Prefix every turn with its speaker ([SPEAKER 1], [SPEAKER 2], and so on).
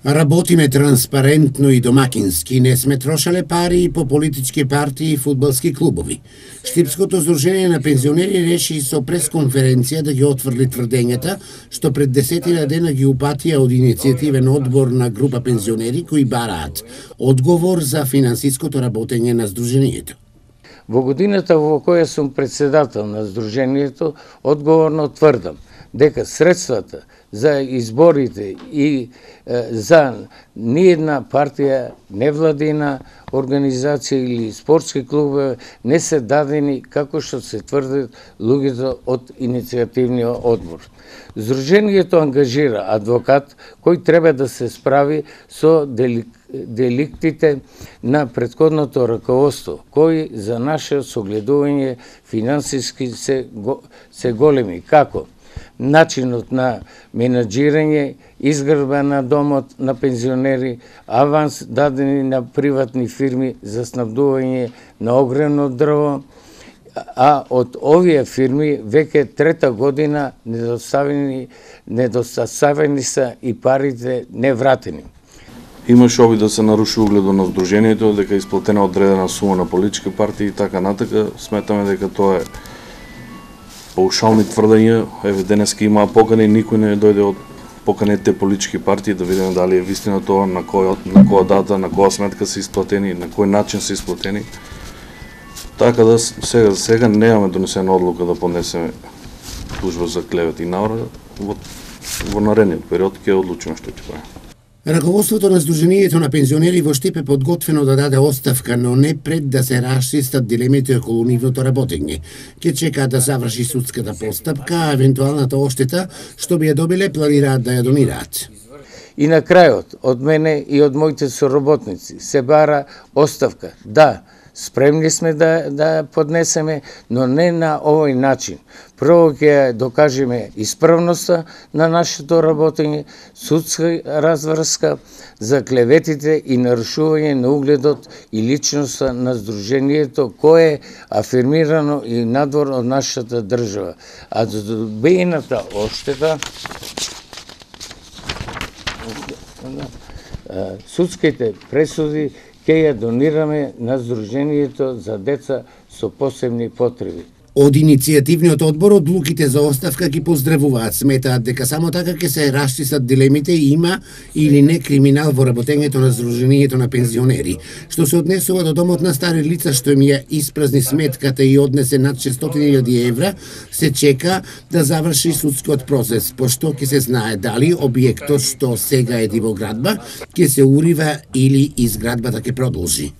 [SPEAKER 1] Работиме транспарентно и домакински, не сме трошале пари по политички партии и фудбалски клубови. Штипското здружение на пензионери реши со пресконференција да ги отврли тврдењата што пред 10 дена ги упатија од иницијативен одбор на група пензионери кои бараат одговор за финансиското работење на здружението.
[SPEAKER 2] Во годината во која сум председател на здружението, одговорно тврдам дека средствата за изборите и за ниедна партија, невладина организација или спортски клуб не се дадени како што се тврдат луѓето од иницијативниот одбор. Здружението ангажира адвокат кој треба да се справи со деликтите на претходното раководство, кои за наше согледување финансиски се големи, како начинот на менаџирање, изградба на домот на пензионери, аванс дадени на приватни фирми за снабдување на огревно дрво, а од овие фирми веќе трета година недоставени са и парите невратени.
[SPEAKER 3] Имаше обид да се наруши угледот на здружението, дека е исплатена одредена сума на политички партии и така натака. Сметаме дека тоа е паушални тврдења. Еве денеска имаа покани, никој не дојде од поканетите политички партии да видиме дали е вистина тоа, на која дата, на која сметка се исплатени, на кој начин се исплатени. Така да сега немаме донесена одлука да поднесеме тужба за клевет и навреда. Во наредниот период ќе одлучиме што ќе правиме.
[SPEAKER 1] Раководството на Сдруженијето на пензионери во Штип е подготвено да даде оставка, но не пред да се расчистат дилемите околу нивното работење. Ке чекаат да заврши судската постапка, а евентуалната оштета што би ја добиле планираат да ја донираат.
[SPEAKER 2] И на крајот, од мене и од моите соработници се бара оставка. Да, спремни сме да поднесеме, но не на овој начин. Прво ќе докажеме исправноста на нашето работење, судска разврска за клеветите и нарушување на угледот и личноста на Сдруженијето, кое е афирмирано и надвор од нашата држава. А за добиената оштета, судските пресуди ќе ја донираме на Сдруженијето за деца со посебни потреби.
[SPEAKER 1] Од иницијативниот одбор одлуките за оставка ги поздравуваат, сметаат дека само така ќе се расчистат дилемите и има или не криминал во работењето на Сдруженијето на пензионери. Што се однесува до домот на стари лица што им ја испразни сметката и однесе над 600.000 евра, се чека да заврши судскиот процес, пошто ќе се знае дали објектот што сега е дивоградба ќе се урива или изградбата ќе продолжи.